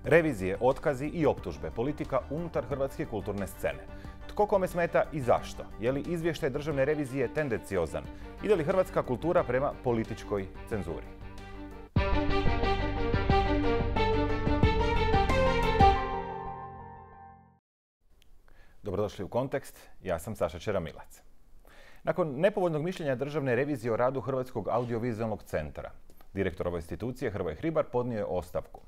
Revizije, otkazi i optužbe, politika unutar hrvatske kulturne scene. Tko kome smeta i zašto? Je li izvještaj državne revizije tendenciozan? Ide li hrvatska kultura prema političkoj cenzuri? Dobrodošli u Kontekst, ja sam Saša Čeramilac. Nakon nepovoljnog mišljenja državne revizije o radu Hrvatskog audiovizualnog centra, direktor ove institucije Hrvoje Hribar podnio je ostavku.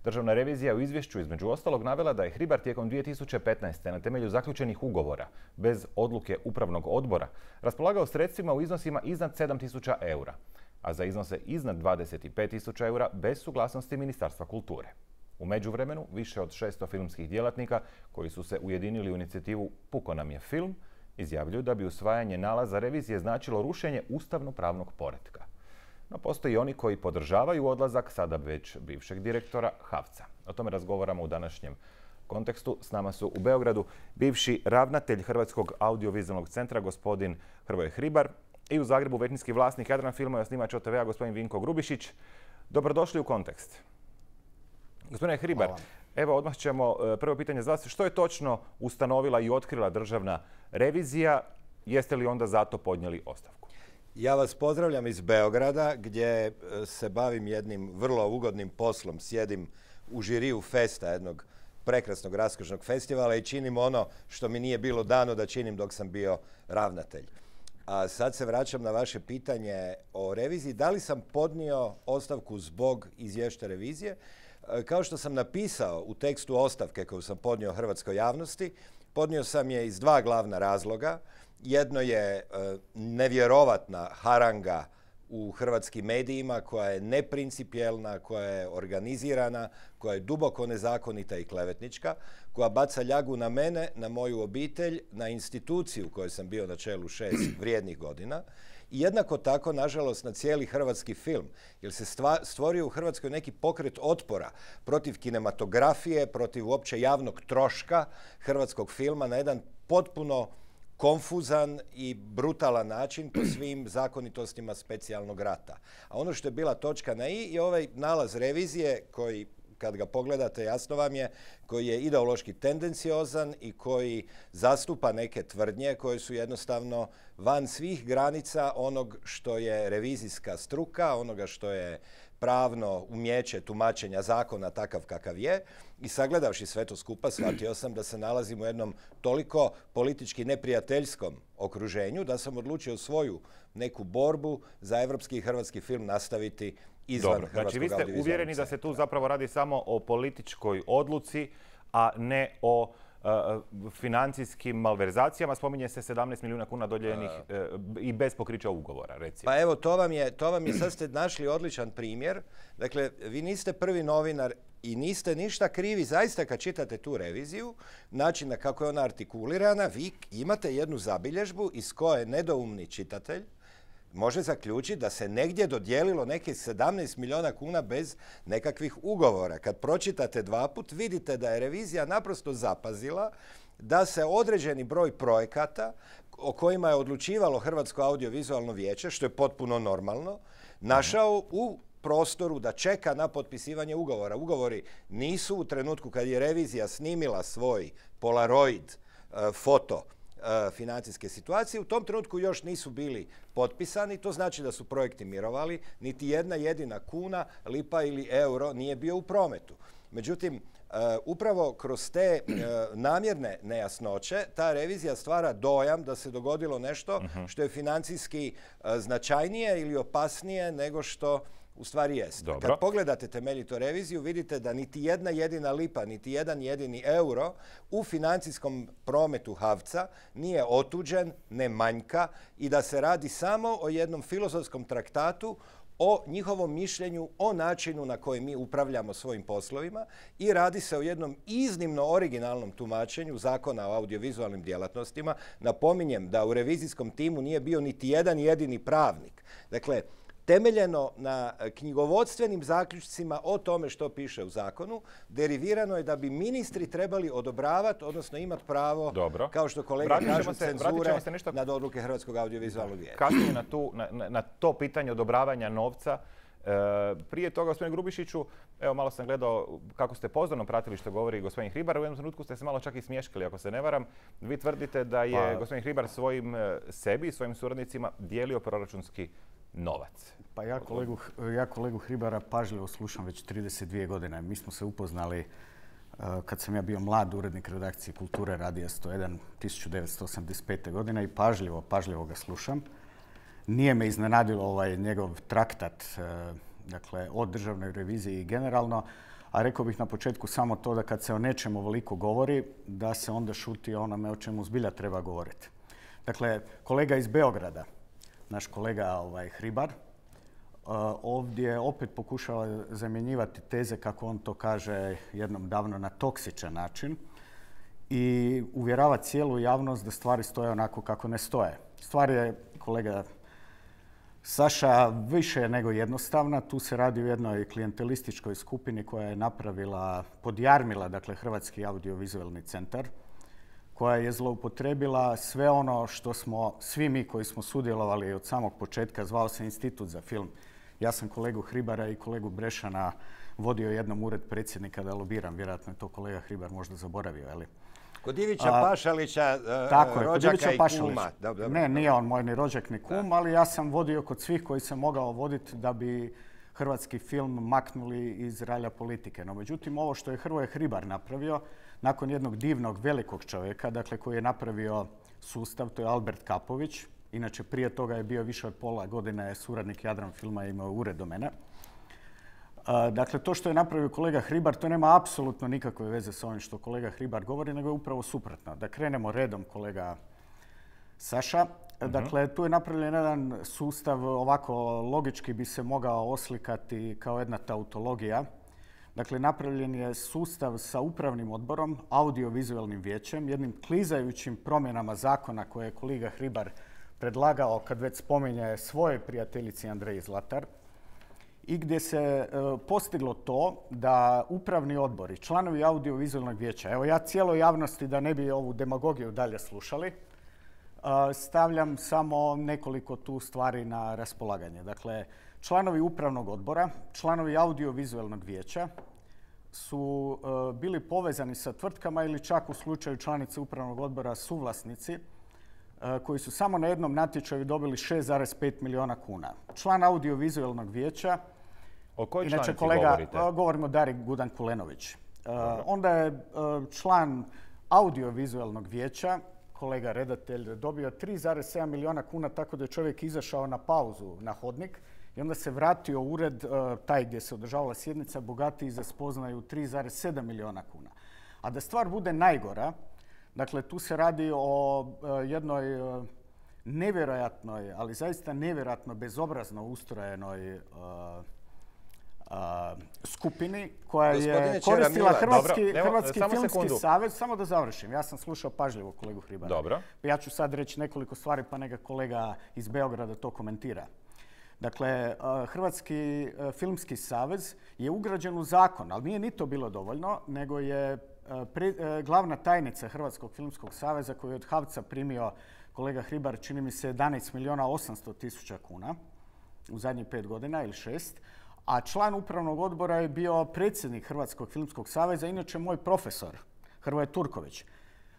Državna revizija u izvješću između ostalog navela da je Hribar tijekom 2015. na temelju zaključenih ugovora, bez odluke upravnog odbora, raspolagao sredstvima u iznosima iznad 7.000 eura, a za iznose iznad 25.000 eura bez suglasnosti Ministarstva kulture. U međuvremenu, više od 600 filmskih djelatnika koji su se ujedinili u inicijativu Puko nam je film, izjavljuju da bi usvajanje nalaza revizije značilo rušenje ustavno-pravnog poretka. No, postoji oni koji podržavaju odlazak sada već bivšeg direktora HAVC-a. O tome razgovaramo u današnjem kontekstu. S nama su u Beogradu bivši ravnatelj Hrvatskog audiovizualnog centra, gospodin Hrvoje Hribar, i u Zagrebu većinski vlasnik Jadran filma i osnivač OTV-a, gospodin Vinko Grubišić. Dobrodošli u Kontekst. Gospodine Hribar, evo odmah ćemo prvo pitanje za vas. Što je točno ustanovila i otkrila državna revizija? Jeste li onda zato podnijeli ostavku? Ja vas pozdravljam iz Beograda gdje se bavim jednim vrlo ugodnim poslom. Sjedim u žiriju festa, jednog prekrasnog raskošnog festivala i činim ono što mi nije bilo dano da činim dok sam bio ravnatelj. A sad se vraćam na vaše pitanje o reviziji. Da li sam podnio ostavku zbog izvješća revizije? Kao što sam napisao u tekstu ostavke koju sam podnio hrvatskoj javnosti, podnio sam je iz dva glavna razloga. Jedno je nevjerovatna haranga u hrvatskim medijima koja je neprincipijelna, koja je organizirana, koja je duboko nezakonita i klevetnička, koja baca ljagu na mene, na moju obitelj, na instituciju kojoj sam bio na čelu 6 vrijednih godina. I jednako tako, nažalost, na cijeli hrvatski film, jer se stvorio u Hrvatskoj neki pokret otpora protiv kinematografije, protiv uopće javnog troška hrvatskog filma na jedan potpuno konfuzan i brutalan način po svim zakonitostima specijalnog rata. A ono što je bila točka na i je ovaj nalaz revizije koji, kad ga pogledate, jasno vam je, koji je ideološki tendenciozan i koji zastupa neke tvrdnje koje su jednostavno van svih granica onog što je revizijska struka, onoga što je pravno umijeće tumačenja zakona takav kakav je. I sagledavši sve to skupa, shvatio sam da se nalazim u jednom toliko politički neprijateljskom okruženju da sam odlučio svoju neku borbu za evropski i hrvatski film nastaviti izvan Hrvatskog audiovizualnog centra. Znači, vi ste uvjereni da se tu zapravo radi samo o političkoj odluci, a ne o financijskim malverzacijama. Spominje se 17 milijuna kuna dodijeljenih i bez pokrića ugovora, recimo. Pa evo, to vam je, sad ste našli odličan primjer. Dakle, vi niste prvi novinar i niste ništa krivi, zaista kad čitate tu reviziju, načina kako je ona artikulirana, vi imate jednu zabilježbu iz koje nedoumni čitatelj može zaključiti da se negdje dodijelilo neke 17 milijuna kuna bez nekakvih ugovora. Kad pročitate dva put, vidite da je revizija naprosto zapazila da se određeni broj projekata o kojima je odlučivalo Hrvatsko audiovizualno vijeće, što je potpuno normalno, našao u prostoru da čeka na potpisivanje ugovora. Ugovori nisu u trenutku kad je revizija snimila svoj Polaroid foto financijske situacije, u tom trenutku još nisu bili potpisani. To znači da su projekti mirovali, niti jedna jedina kuna, lipa ili euro nije bio u prometu. Međutim, upravo kroz te namjerne nejasnoće ta revizija stvara dojam da se dogodilo nešto što je financijski značajnije ili opasnije nego što u stvari jest. Dobro. Kad pogledate temeljito reviziju, vidite da niti jedna jedina lipa, niti jedan jedini euro u financijskom prometu HAVC-a nije otuđen, ne manjka i da se radi samo o jednom filozofskom traktatu o njihovom mišljenju, o načinu na koji mi upravljamo svojim poslovima i radi se o jednom iznimno originalnom tumačenju Zakona o audiovizualnim djelatnostima. Napominjem da u revizijskom timu nije bio niti jedan jedini pravnik. Dakle, temeljeno na knjigovodstvenim zaključcima o tome što piše u zakonu, derivirano je da bi ministri trebali odobravati, odnosno imati pravo, kao što kolega kažu, cenzure nad odluke Hrvatskog audiovizualnog vijeća. Kasnije na to pitanje odobravanja novca Prije toga, gospodine Grubišiću, evo malo sam gledao kako ste pozorno pratili što govori gospodin Hribar. U jednom trenutku ste se malo čak i smješkali, ako se ne varam. Vi tvrdite da je gospodin Hribar sebi i svojim suradnicima dijelio proračunski novac. Pa ja kolegu Hribara pažljivo slušam već 32 godine. Mi smo se upoznali kad sam ja bio mlad urednik redakcije Kulture Radija 101 1985. godine i pažljivo ga slušam. Nije me iznenadilo njegov traktat, dakle, o državnoj reviziji i generalno, a rekao bih na početku samo to da kad se o nečemu ovoliko govori, da se onda šuti o onome o čemu zbilja treba govoriti. Dakle, kolega iz Beograda, naš kolega Hribar, ovdje opet pokušava zamjenjivati teze, kako on to kaže jednom davno, na toksičan način i uvjerava cijelu javnost da stvari stoje onako kako ne stoje. Stvar je, kolega Saša, više nego jednostavna. Tu se radi o jednoj klijentelističkoj skupini koja je podjarmila, dakle, Hrvatski audiovizualni centar, koja je zloupotrebila sve ono što smo svi mi koji smo sudjelovali od samog početka, zvao se Institut za film. Ja sam kolegu Hribara i kolegu Brešana vodio jednom ured predsjednika da lobiram. Vjerojatno je to kolega Hribar možda zaboravio, ali... Kod Ivića Pašalića, rođaka i kuma. Ne, nije on moj ni rođak ni kum, ali ja sam vodio kod svih koji sam mogao voditi da bi hrvatski film maknuli iz ralja politike. No, međutim, ovo što je Hrvoje Hribar napravio, nakon jednog divnog, velikog čovjeka, dakle, koji je napravio sustav, to je Albert Kapović. Inače, prije toga je bio više od pola godine suradnik Jadran filma i imao ured do mene. Dakle, to što je napravio kolega Hribar, to nema apsolutno nikakve veze s ovim što kolega Hribar govori, nego je upravo suprotno. Da krenemo redom, kolega Saša. Dakle, tu je napravljen jedan sustav, ovako logički bi se mogao oslikati kao jedna tautologija. Dakle, napravljen je sustav sa upravnim odborom, audiovizualnim vijećem, jednim klizajućim promjenama zakona koje je kolega Hribar predlagao kad već spominje svoje prijateljici Andreji Zlatar, i gdje se postiglo to da upravni odbori, članovi audiovizualnog vijeća, evo ja cijeloj javnosti, da ne bi ovu demagogiju dalje slušali, stavljam samo nekoliko tu stvari na raspolaganje. Dakle, članovi upravnog odbora, članovi audiovizualnog vijeća su bili povezani sa tvrtkama ili čak u slučaju članice upravnog odbora suvlasnici koji su samo na jednom natječaju dobili 6,5 milijuna kuna. Član audiovizualnog vijeća, o kojoj inače članici govorite? Govorimo o Dari Gudan-Kulenović. Onda je član audiovizualnog vijeća, kolega redatelj, dobio 3,7 milijuna kuna tako da je čovjek izašao na pauzu na hodnik i onda se vratio u ured, taj gdje se održavala sjednica, bogatiji za spoznaju 3,7 milijuna kuna. A da stvar bude najgora, dakle, tu se radi o jednoj nevjerojatnoj, ali zaista nevjerojatno bezobrazno ustrojenoj skupini koja je koristila Hrvatski filmski savez. Samo da završim. Ja sam slušao pažljivo kolegu Hribara. Dobro. Ja ću sad reći nekoliko stvari pa neka kolega iz Beograda to komentira. Dakle, Hrvatski filmski savez je ugrađen u zakon, ali nije ni to bilo dovoljno, nego je glavna tajnica Hrvatskog filmskog saveza koju je od HAVC-a primio kolega Hribar, čini mi se 11 milijuna 800 tisuća kuna u zadnjih 5 godina ili 6, a član upravnog odbora je bio predsjednik Hrvatskog filmskog saveza, inače moj profesor Hrvoje Turković.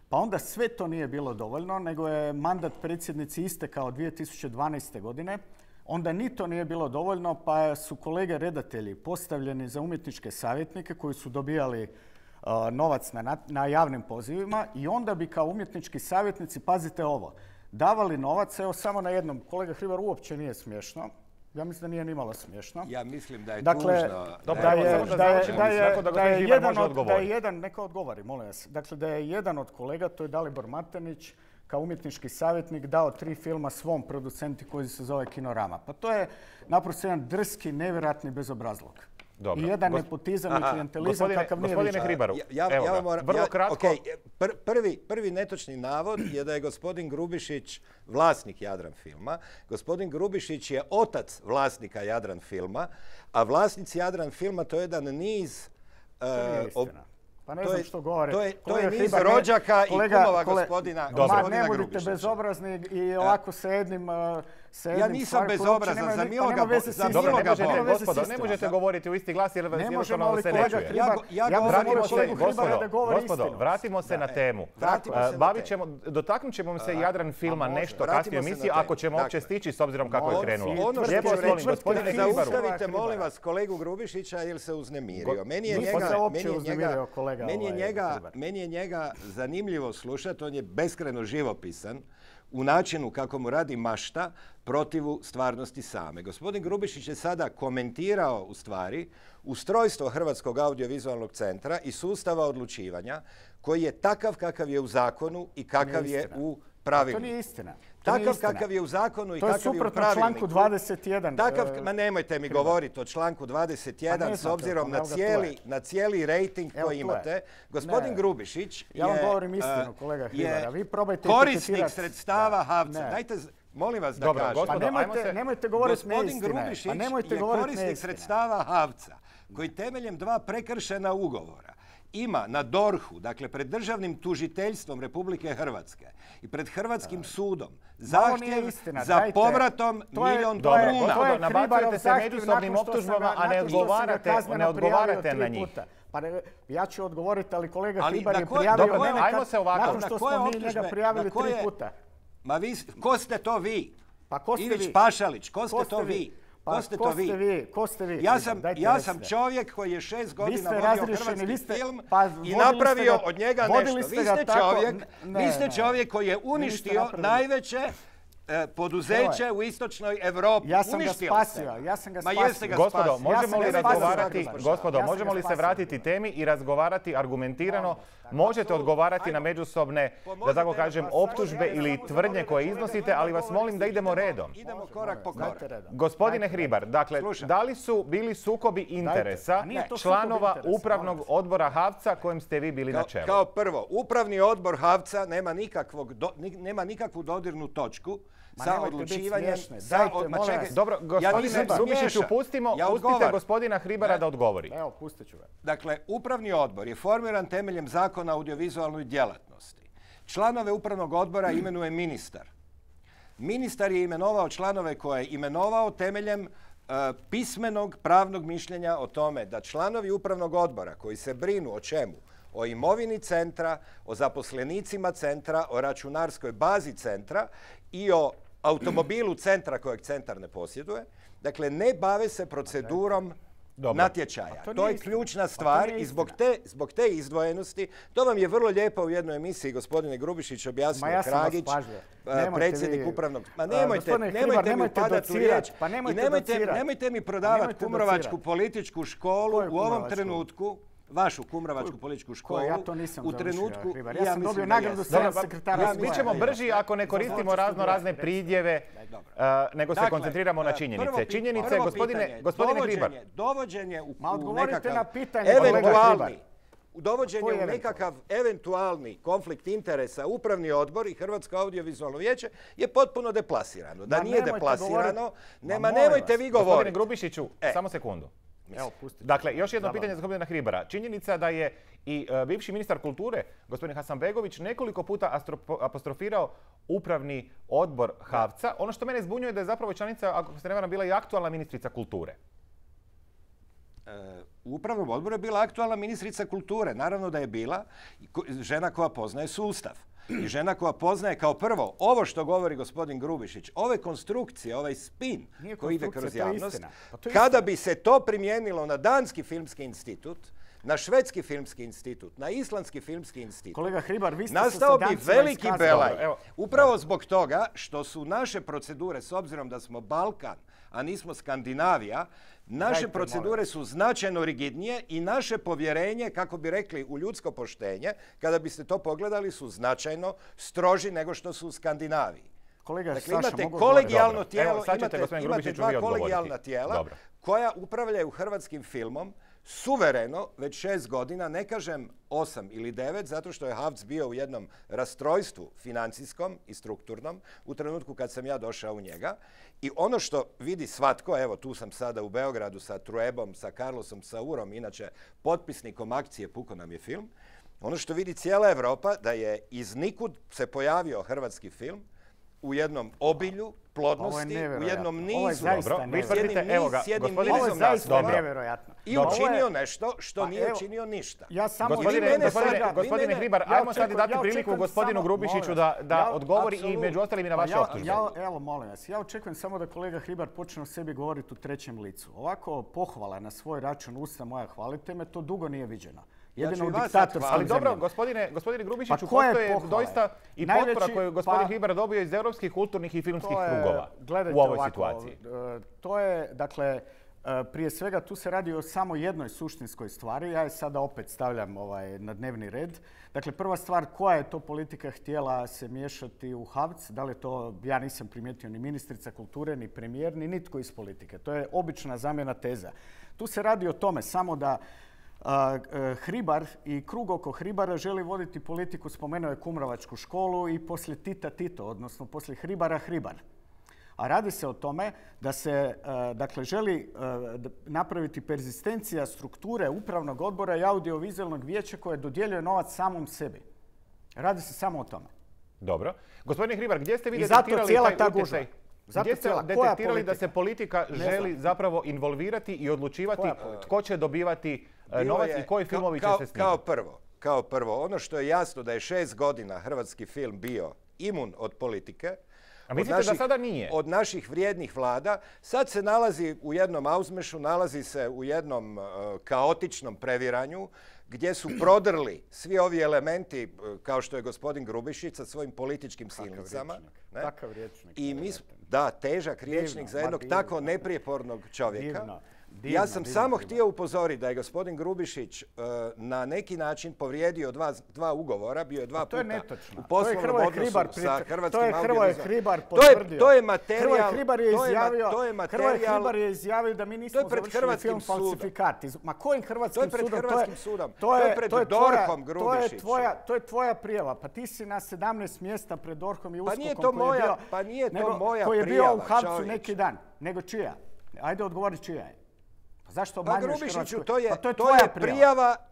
Pa onda sve to nije bilo dovoljno, nego je mandat predsjednici istekao 2012. godine. Onda ni to nije bilo dovoljno, pa su kolege redatelji postavljeni za umjetničke savjetnike koji su dobijali novac na javnim pozivima i onda bi kao umjetnički savjetnici, pazite ovo, davali novac, evo samo na jednom, kolega Hribar, uopće nije smiješno. Ja mislim da nije nimalo smiješno. Ja mislim da je tužno. Neka odgovori, molim vas. Dakle, da je jedan od kolega, to je Dalibor Matanić, kao umjetnički savjetnik dao 3 filma svom producentu koji se zove Kinorama. Pa to je naprosto jedan drski, nevjerojatni bezobrazluk. Dobro. I jedan nepotizam i klijentelizam kakav nije više. Gospodine Hribaru, vrlo kratko. Prvi netočni navod je da je gospodin Grubišić vlasnik Jadran filma. Gospodin Grubišić je otac vlasnika Jadran filma, a vlasnici Jadran filma to je jedan niz... Pa ne znam što govore. To je niz rođaka i kumova gospodina Grubišića. Ne budite bezobrazni i ovako sa jednim sa Ja jednim nisam stvari koje uopće bezobrazan, nema- za pa miloga nema veze s za istinom. Dobro, miloga ne Boga. možete, gospodo, ne možete govoriti u isti glas jer Ne možemo, jednostavno ali se ne kolega čuje. Hribar, Ja ja govorim Vratimo se, kolegu Hribara da govori gospodo, istinu. vratimo se na temu. Vratimo se na temu. Dotaknut ćemo se Jadran filma može. nešto Vratimo kasnije u se na emisiji, temu. ako ćemo uopće Dakle, stići s obzirom kako je krenulo. Ono što Lijepo ću vas molim, reći, gospodine Hribaru. zaustavite, molim vas, kolegu Grubišića jer se uznemirio. Meni je njega zanimljivo slušati, on je beskrajno živopisan u načinu kako mu radi mašta protivu stvarnosti same. Gospodin Grubišić je sada komentirao u stvari ustrojstvo Hrvatskog audiovizualnog centra i sustava odlučivanja koji je takav kakav je u zakonu i kakav je u pravilniku. To nije istina. Takav kakav je u zakonu i kakav je u pravilniku. To je suprotno članku 21. Ma nemojte mi govoriti o članku 21 s obzirom na cijeli rejting koji imate. Gospodin Grubišić ja vam govorim istinu, kolega Hribara. Vi probajte korisnik sredstava HAVC-a. Dajte, molim vas da kažem. Nemojte govoriti neistine. Gospodin Grubišić je korisnik sredstava HAVC-a koji temeljem 2 prekršena ugovora ima na DORH-u, dakle pred državnim tužiteljstvom Republike Hrvatske i pred Hrvatskim sudom zahtjev za povratom $1.000.000. Dobro, nabacujete se međusobnim optužbama, a ne odgovarate na njih. Pa ja ću odgovoriti, ali kolega Hribar je prijavio mene nakon što smo mi njega prijavili 3 puta. Ma vi, ko ste to vi? Pa ko ste vi? Ivić Pašalić, ko ste to vi? Ko ste vi? Ja sam čovjek koji je 6 godina vodio hrvatski film i napravio od njega nešto. Vi ste čovjek koji je uništio najveće poduzeće u istočnoj Europi. Ja sam ga spasio. Gospodo, možemo li se vratiti temi i razgovarati argumentirano? Možete odgovarati na međusobne, da tako kažem, optužbe ili tvrdnje koje iznosite, ali vas molim da idemo redom. Idemo korak po korak. Gospodine Hribar, dakle, da li su bili sukobi interesa članova upravnog odbora HAVC-a kojem ste vi bili na čelu? Kao prvo, upravni odbor HAVC-a nema nikakvu dodirnu točku sa odlučivanjem. Dobro, gospodine Grubišiću, pustite gospodina Hribara da odgovori. Evo, pustit ću ga. Dakle, upravni odbor je formiran temeljem Zakona o audiovizualnoj djelatnosti. Članove upravnog odbora imenuje ministar. Ministar je imenovao članove koje je imenovao temeljem pismenog pravnog mišljenja o tome da članovi upravnog odbora koji se brinu o čemu? O imovini centra, o zaposlenicima centra, o računarskoj bazi centra i o automobilu centra kojeg centar ne posjeduje. Dakle, ne bave se procedurom natječaja. To je ključna stvar i zbog te izdvojenosti, to vam je vrlo lijepo u jednoj emisiji gospodine Grubišić objasnio Kragić, predsjednik upravnog... Ma nemojte mi upadati u riječ i nemojte mi prodavati kumrovačku političku školu u ovom trenutku, vašu kumrovačku političku školu, u trenutku... Ja sam dobio nagradu sekretara. Mi ćemo brži ako ne koristimo razne pridjeve, nego se koncentriramo na činjenice. Činjenice, gospodine Hribar. Dovođenje u nekakav eventualni konflikt interesa upravni odbor i Hrvatsko audiovizualno vijeće je potpuno deplasirano. Da nije deplasirano, nemojte vi govoriti. Gospodine Grubišiću, samo sekundu. Dakle, još jedno pitanje za gospodina Hribara. Činjenica da je i bivši ministar kulture, gospodin Hasanbegović, nekoliko puta apostrofirao upravni odbor HAVC-a. Ono što mene zbunjuje da je zapravo članica, ako se ne varam, bila i aktualna ministrica kulture. U upravnom odboru je bila aktualna ministrica kulture. Naravno da je bila žena koja poznaje sustav. I žena koja poznaje kao prvo ovo što govori gospodin Grubišić, ove konstrukcije, ovaj spin koji ide kroz javnost, kada bi se to primijenilo na Danski filmski institut, na Švedski filmski institut, na Islandski filmski institut, kolega Hribar, vi ste nastao bi veliki belaj. Upravo zbog toga što su naše procedure, s obzirom da smo Balkan, a nismo Skandinavija, naše procedure su značajno rigidnije i naše povjerenje, kako bi rekli, u ljudsko poštenje, kada biste to pogledali, su značajno stroži nego što su u Skandinaviji. Dakle, imate kolegijalno tijelo, imate 2 kolegijalna tijela koja upravljaju hrvatskim filmom suvereno već 6 godina, ne kažem 8 ili 9, zato što je HAVC bio u jednom rastrojstvu financijskom i strukturnom u trenutku kad sam ja došao u njega. I ono što vidi svatko, evo tu sam sada u Beogradu sa Truebom, sa Carlosom Saurom, inače potpisnikom akcije Puko nam je film, ono što vidi cijela Europa da je iz nikud se pojavio hrvatski film u jednom obilju, plodnosti, u jednom nizu. Ovo je zaista nevjerojatno. S jednim Ovo je nizom zaista naslova. nevjerojatno. I učinio nešto što nije učinio ništa. Ja samo Gospodine Hribar, ajmo sad dati priliku gospodinu Grubišiću da odgovori i među ostalim i na vaše optužbe. Evo, molim vas, ja očekujem samo da kolega Hribar počne o sebi govoriti u trećem licu. Ovako pohvala na svoj račun, usta moja, hvalite me, to dugo nije viđeno. Jedino u diktatorskim zemljama. Ali dobro, gospodine Grubišiću, postoje doista i potpora koju gospodin Hribar dobio iz europskih kulturnih i filmskih krugova u ovoj situaciji. To je, dakle, prije svega tu se radi o samo jednoj suštinskoj stvari. Ja je sada opet stavljam na dnevni red. Dakle, prva stvar, koja je to politika htjela se miješati u HAVC? Da li to, ja nisam primijetio ni ministrica kulture, ni premijer, ni nitko iz politike. To je obična zamjena teza. Tu se radi o tome samo da Hribar i krug oko Hribara želi voditi politiku, spomenuo je Kumrovačku školu i poslije Tita Tito, odnosno poslije Hribara Hribar. A radi se o tome da se dakle, želi napraviti perzistencija strukture upravnog odbora i audiovizualnog vijeća koje dodjeljuje novac samom sebi. Radi se samo o tome. Dobro. Gospodine Hribar, gdje ste vi detektirali taj utjecaj? Gdje ste detektirali da se politika želi zapravo involvirati i odlučivati tko će dobivati novac i koji filmovi će se snimati? Kao prvo, ono što je jasno da je 6 godina hrvatski film bio imun od politike, a mislite da sada nije? Od naših vrijednih vlada. Sad se nalazi u jednom auzmešu, nalazi se u jednom kaotičnom previranju gdje su prodrli svi ovi elementi, kao što je gospodin Grubišić sa svojim političkim silnicama. Takav rječnik. Da, težak rječnik za jednog tako neprijepornog čovjeka. Ja sam samo htio upozoriti da je gospodin Grubišić na neki način povrijedio dva ugovora, bio je 2 puta u poslovnom odnosu sa Hrvatskim audiovizualnim. To je materijal. Hrvoje Hribar je izjavio da mi nismo završili film Falsifikat. Ma kojim hrvatskim sudom? To je pred Hrvatskim sudom. To je pred DORH-om, Grubišiću. To je tvoja prijava. Pa ti si na 17 mjesta pred DORH-om i USKOK-om koji je bio u HAVC-u neki dan. Nego čija? Ajde odgovori čija je. Zašto obmanjuješ Hrvatsku?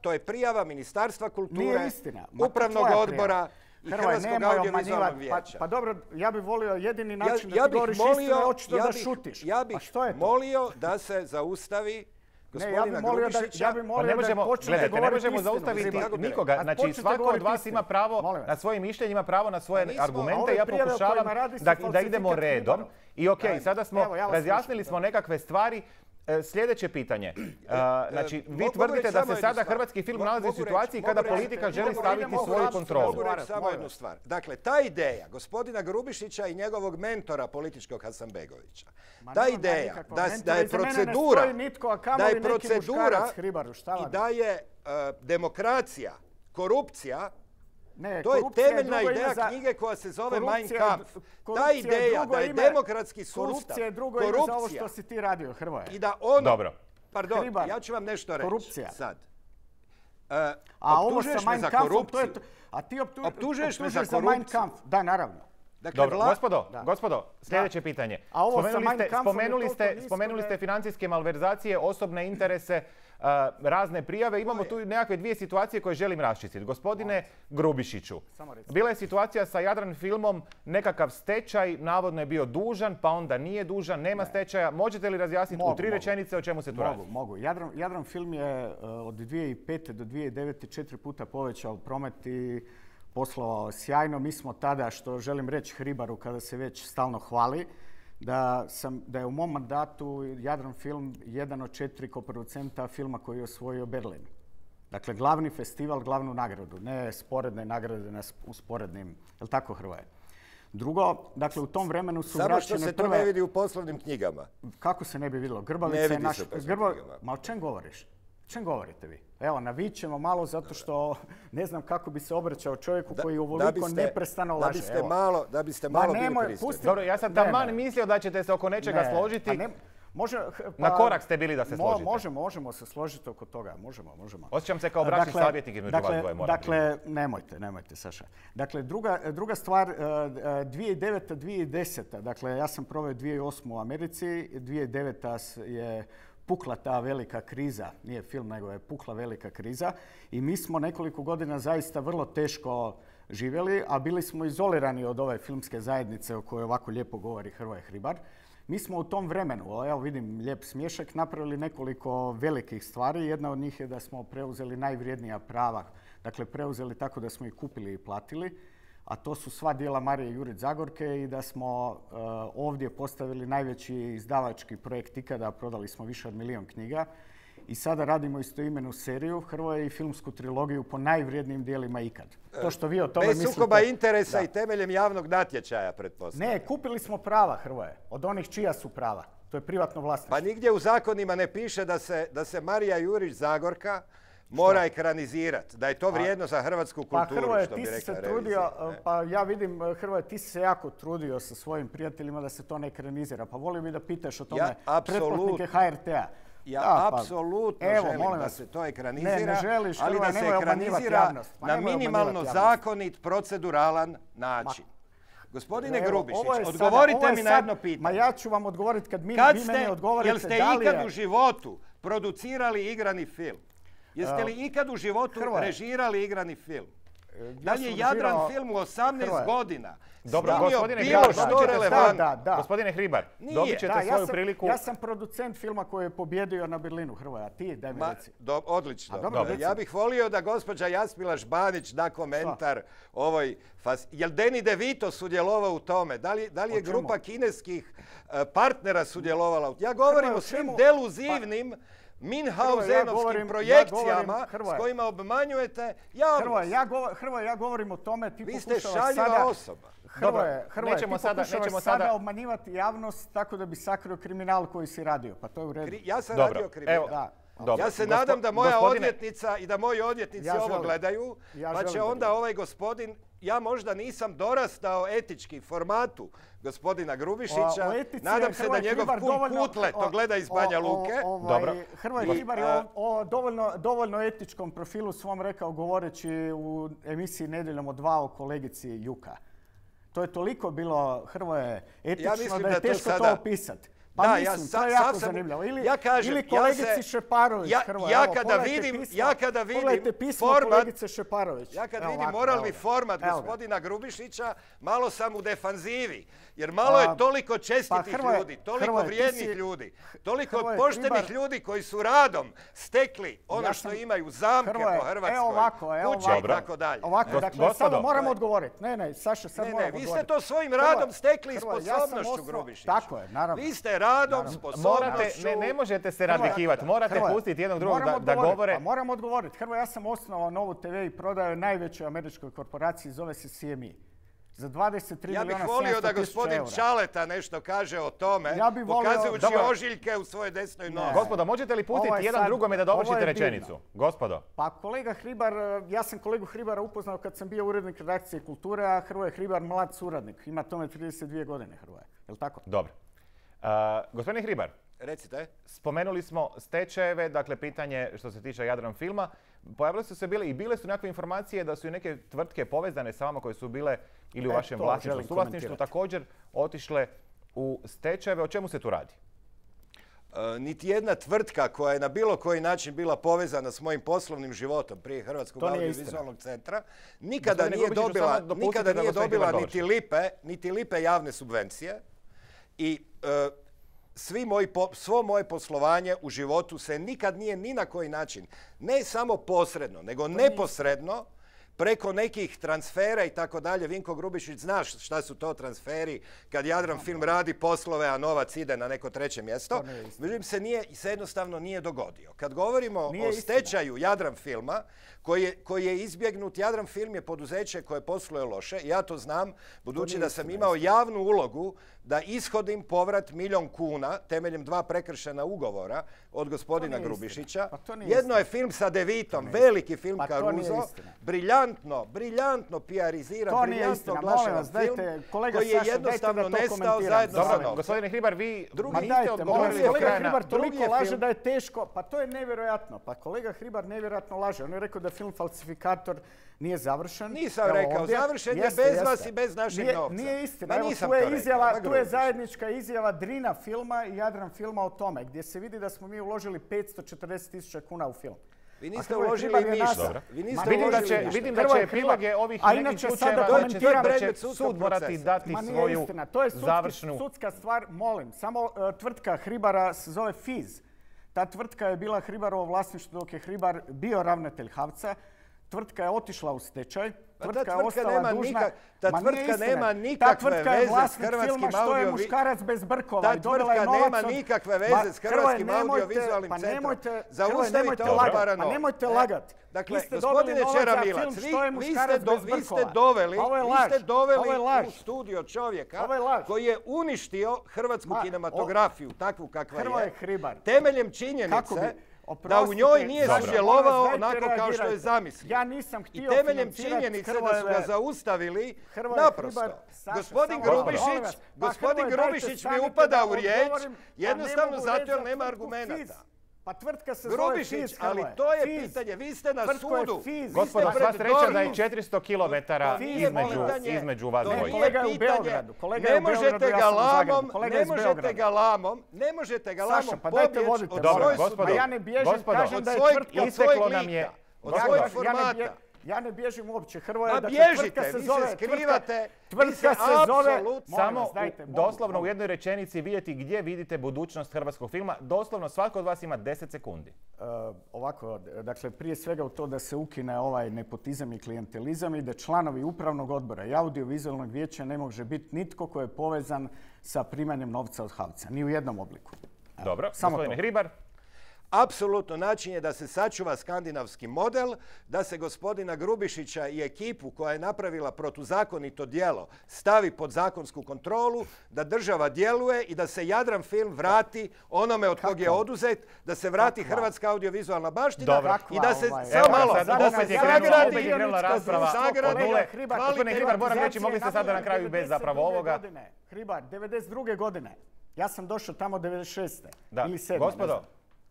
To je prijava Ministarstva kulture, Upravnog odbora i Hrvatskog audiovizualnog vijeća. Pa dobro, ja bih volio jedini način da ti govoriš istinu je očito da šutiš. Ja bih molio da se zaustavi gospodina Grubišića. Ne možemo zaustaviti nikoga. Znači, svako od vas ima pravo na svoje mišljenje, ima pravo na svoje argumente. Ja pokušavam da idemo redom. I okej, sada smo razjasnili smo nekakve stvari. Sljedeće pitanje. Znači, vi tvrdite da se sada hrvatski film nalazi u situaciji kada politika želi staviti svoju kontrolu. Samo jednu stvar. Dakle, ta ideja gospodina Grubišića i njegovog mentora političkog Hasanbegovića, ta ideja da je procedura i da je demokracija, korupcija, to je temeljna ideja knjige koja se zove Mein Kampf. Ta ideja da je demokratski sustav, korupcija je drugo ime za ovo što si ti radio, Hrvoje. I da ono... Dobro. Pardon, ja ću vam nešto reći sad. Optužuješ me za korupciju. A ti optužuješ me za Mein Kampf. Da, naravno. Dobro, gospodo, sljedeće pitanje. Spomenuli ste financijske malverzacije, osobne interese, razne prijave. Imamo tu nekakve dvije situacije koje želim raščistiti. Gospodine Grubišiću, bila je situacija sa Jadran filmom, nekakav stečaj, navodno je bio dužan, pa onda nije dužan, nema stečaja. Možete li razjasniti u 3 rečenice o čemu se tu radi? Mogu. Jadran film je od 2005. do 2009. 4 puta povećao promet i poslovao sjajno. Mi smo tada, što želim reći Hribaru kada se već stalno hvali, da je u mom mandatu Jadran film jedan od 4 koproducenta filma koji je osvojio Berlin. Dakle, glavni festival, glavnu nagradu, ne sporedne nagrade na usporednim. Je li tako, Hrvoje? Drugo, dakle, u tom vremenu su vraćene... Samo što se to ne vidi u poslovnim knjigama. Kako se ne bi vidjelo? Grbavica je naš... Ma o čem govoriš? O čem govorite vi? Evo, navićemo malo zato što ne znam kako bi se obraćao čovjeku koji uvoliko neprestano laže. Da biste malo bili pristojni. Dobro, ja sam taman mislio da ćete se oko nečega složiti. Na korak ste bili da se složite. Možemo se složiti oko toga. Možemo. Osjećam se kao bračni savjetnik između vas dvoje. Dakle, nemojte, Saša. Dakle, druga stvar, 2009. 2010. Dakle, ja sam proveo 2008. u Americi. 2009. je pukla ta velika kriza. Nije film, nego je pukla velika kriza. I mi smo nekoliko godina zaista vrlo teško živjeli, a bili smo izolirani od ove filmske zajednice o kojoj ovako lijepo govori Hrvoje Hribar. Mi smo u tom vremenu, evo vidim lijep smiješak, napravili nekoliko velikih stvari. Jedna od njih je da smo preuzeli najvrijednija prava. Dakle, preuzeli tako da smo ih kupili i platili. A to su sva djela Marije Jurić Zagorke i da smo ovdje postavili najveći izdavački projekt ikada. Prodali smo više od 1 milijun knjiga. I sada radimo istoimenu seriju Hrvoje i filmsku trilogiju po najvrijednijim dijelima ikad. To što vi o tome mislite... Bez sukoba interesa i temeljem javnog natječaja, pretpostavljam. Ne, kupili smo prava Hrvoje. Od onih čija su prava. To je privatno vlasništvo. Pa nigdje u zakonima ne piše da se Marija Jurić Zagorka mora ekranizirati. Da je to vrijedno za hrvatsku kulturu, pa Hrvoje, što bi rekla se revizija. Trudio, pa ja vidim, Hrvoje, ti si se jako trudio sa svojim prijateljima da se to ne ekranizira. Pa volio bi da pitaš o tome pretplatnike HRT-a. Ja apsolutno želim da se to ekranizira, ali da se ekranizira na minimalno zakonit, proceduralan način. Gospodine Grubišić, odgovorite mi na jedno pitanje. Ma ja ću vam odgovoriti kad vi meni odgovorite. Jel ste ikad u životu producirali igrani film? Jeste li ikad u životu režirali igrani film? Da li je Jadran film u 18 godina snimio bilo što relevantno? Gospodine Hribar, dobit ćete svoju priliku. Ja sam producent filma koji je pobjedio na Berlinu, Hrvoje, a ti daj mi reci. Odlično. Ja bih volio da gospođa Jasmila Žbanić da komentar ovoj... Jel Danny DeVito sudjelovao u tome? Da li je grupa kineskih partnera sudjelovala u tome? Ja govorim o svim deluzivnim Minhausenovskim projekcijama s kojima obmanjujete javnost. Hrvoje, ja govorim o tome. Vi ste šaljiva osoba. Hrvoje, ti pokušavaš sada obmanjivati javnost tako da bi sakrio kriminal koji si radio. Pa to je u redu. Ja sam radio kriminal. Ja se nadam da moja odvjetnica i da moji odvjetnici ovo gledaju, pa će onda ovaj gospodin, ja možda nisam dorastao etički formatu gospodina Grubišića, nadam se da njegov kum Kutle to gleda iz Banja Luke. Hrvoje Hribar je o dovoljno etičkom profilu svom rekao govoreći u emisiji Nedjeljom od 2 o kolegici Juka. To je toliko bilo, Hrvoje, etično da je teško to opisati. Pa mislim, to je jako zanimljivo. Ili kolegici Šeparović, Hrvoje. Ja kada vidim pismo kolegice Šeparović. Ja kad vidim moralni format gospodina Grubišića, malo sam u defanzivi. Jer malo je toliko čestitih ljudi, toliko vrijednih ljudi, toliko poštenih ljudi koji su radom stekli ono što imaju, zamke po Hrvatskoj, kuće i tako dalje. Ovako, dakle, sada moram odgovoriti. Ne, Saša, sad moram odgovoriti. Vi ste to svojim radom stekli i sposobnošću, Grubišić. Tako je, naravno. Vi ste radom, sposobnošću... Ne možete se radikivati, morate pustiti jednog drugog da govore. Moram odgovoriti. Hrvoje, ja sam osnovao Novu TV i prodao najvećoj američkoj korporaciji, zove se CME. Za 23 milijuna 700 000 eura. Ja bih volio da gospodin Čaleta nešto kaže o tome, pokazujući ožiljke u svojoj desnoj nozi. Gospodo, možete li pustiti jedan drugome da dovršite rečenicu? Gospodo. Pa kolega Hribar, ja sam kolegu Hribara upoznao kad sam bio urednik redakcije Kulture, a Hrvoje Hribar mlad suradnik. Ima tome 32 godine, Hrvoje. Je li tako? Dobro. Gospodine Hribar, recite. Spomenuli smo stečajeve, dakle pitanje što se tiče Jadran filma. Pojavile su se bile su nekakve informacije da su i neke tvrtke povezane sa vama koje su bile ili u vašem vlasništvu, suvlasništvu također otišle u stečajeve. O čemu se tu radi? Niti jedna tvrtka koja je na bilo koji način bila povezana s mojim poslovnim životom prije Hrvatskog audiovizualnog centra nikada nije dobila niti lipe javne subvencije i svo moje poslovanje u životu se nikad nije ni na koji način, ne samo posredno, nego neposredno, preko nekih transfera i tako dalje. Vinko Grubišić zna šta su to transferi kad Jadran film radi poslove, a novac ide na neko treće mjesto. Međutim, se jednostavno nije dogodio. Kad govorimo o stečaju Jadran filma, koji je izbjegnut, Jadran film je poduzeće koje posluje loše. Ja to znam, budući da sam imao javnu ulogu da ishodim povrat 1 milijun kuna temeljem 2 prekršena ugovora od gospodina Grubišića. Jedno je film sa DeVitom, veliki film Caruso, briljantno briljantno PR-iziran, To nije briljantno istina. Molim oglašavan vas, film dajte, kolega koji je Saša, jednostavno dajte da to nestao komentiram. zajedno sa Dobro, novcem. gospodine Hribar, vi Ma niste dajte, odgovorili do kolega kraja na- Hribar drugi toliko je laže film. da je teško. Pa to je nevjerojatno. Pa kolega Hribar nevjerojatno laže. On je rekao da film Falsifikator nije završen. Nisam Evo rekao, ovdje. završen je Jeste, bez jeste. vas i bez našeg novca. Nije istina. Ma Evo, nisam tu je to rekao, izjava, ma tu je Grubišić. zajednička izjava Drina filma i Jadran filma o tome, gdje se vidi da smo mi uložili 540.000 kuna u film. Vi A niste Hrvoje uložili Hribar je ništa. naša. Vi Ma niste Vidim da uložili će, ništa. vidim da Hrvoje će epiloge Hribar. ovih A nekih inače sada slučajeva komentiram- da će predmet sudskog sud morati procesa. dati Ma nije svoju istina, to je završnu... sudska stvar, molim. Samo tvrtka Hribara se zove FIZ. Ta tvrtka je bila Hribarovo vlasništvo dok je Hribar bio ravnatelj HAVC-a. Tvrtka je otišla u stečaj. Pa ta Tvrtka je tvrtka ostala nema dužna. nikak- ta Ma nije tvrtka istina. nema Ta nikakve tvrtka je veze s vlasnik hrvatskim filma Što je audio- muškarac bez brkova. Ta I dobila je tvrtka novac nema od- nikakve Ma, veze s Hrvoje, Hrvatskim nemojte- audiovizualnim pa centrom. nemojte- Zaustavite Hrvoje, ovo nemojte parano. nemojte lagat. Dakle, Vi ste gospodine dobili novac za Čeramilac, film Što je vi muškarac bez brkova. vi ste doveli, Ovo je vi laž. ste doveli Ovo je laž. u studio čovjeka Ovo je laž. koji je uništio hrvatsku Ma, kinematografiju, takvu kakva Hrvoje je, Hribar. temeljem Kako činjenice bi- da u njoj nije Dobro. sudjelovao Molim vas, dajte onako kao što je reagirajte. zamislio. Ja nisam I htio temeljem financirati činjenice da su ga Hrvojeve- zaustavili, Hrvoje naprosto. Hribar, Saša, Gospodin samo malo, molim Grubišić, vas. Pa gospodin Hrvoje, dajte, Grubišić mi stanite upada da u riječ, odgovorim, a ne jednostavno mogu zato reći jer za nema tvrtku argumenata. FIZ. Pa tvrtka se zove Grubišić, FIZ, ali Hrvoje. to je FIZ. pitanje, vi ste na Tvrtko je sudu. FIZ. Vi ste Gospodo, pred sva sreća da je DORH-om. 400 kilometara To nije pitanje, između vas to Ne, dvojice. nije kolega je u pitanje. Beogradu, kolega je Ne u Beogradu, možete ja ga sam u Zagrebu, lamom, kolega ne je iz možete Beograda. ga lamom, ne možete ga lamom Saša, pa dajte pobjeći vodite od Dobro, svoje gospodo, Ma ja ne bježim, gospodo, kažem da je od tvrtka... Isteklo nam je... od Gospodo, svojeg Ja ne formata. Ja ne bježim uopće, Hrvoje. Ma dakle, bježite, tvrtka se vi se zove- skrivate, Tvrtka vi se se zove... apsolutno- Molim Samo vas, dajte, mogu, doslovno u mogu. jednoj rečenici vidjeti gdje vidite budućnost hrvatskog filma. Doslovno svatko od vas ima 10 sekundi. Ovako, dakle, prije svega u to da se ukine ovaj nepotizam i klijentelizam i da članovi upravnog odbora i audiovizualnog vijeća ne može biti nitko ko je povezan sa primanjem novca od HAVC-a, ni u jednom obliku. Evo, Dobro, samo gospodine to. Hribar. Apsolutno način je da se sačuva skandinavski model, da se gospodina Grubišića i ekipu koja je napravila protuzakonito djelo stavi pod zakonsku kontrolu, da država djeluje i da se Jadran film vrati onome od kog je Kakva? oduzet, da se vrati Kakva? hrvatska audiovizualna baština Dobro. i da se Kakva, samo malo sad Zadana opet je Zadana krenula, Zadana opet je krenula Zadana rasprava Zadana od nule. Kolega Hribar, Gospodine Hribar, moram reći, mogli ste sada na kraju i bez 92. zapravo ovoga. godine. Hribar, 92. godine. Ja sam došao tamo 96. Da, ili 7. gospodo,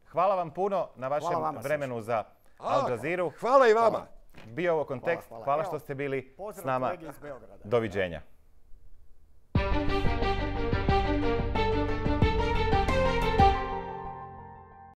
hvala vam puno na vašem Hvala vama, vremenu za Al Jazeera. Hvala i vama. Bio je ovo kontekst. Hvala. Hvala Evo, što ste bili pozdrav s nama. kolegi iz Beograda. Doviđenja.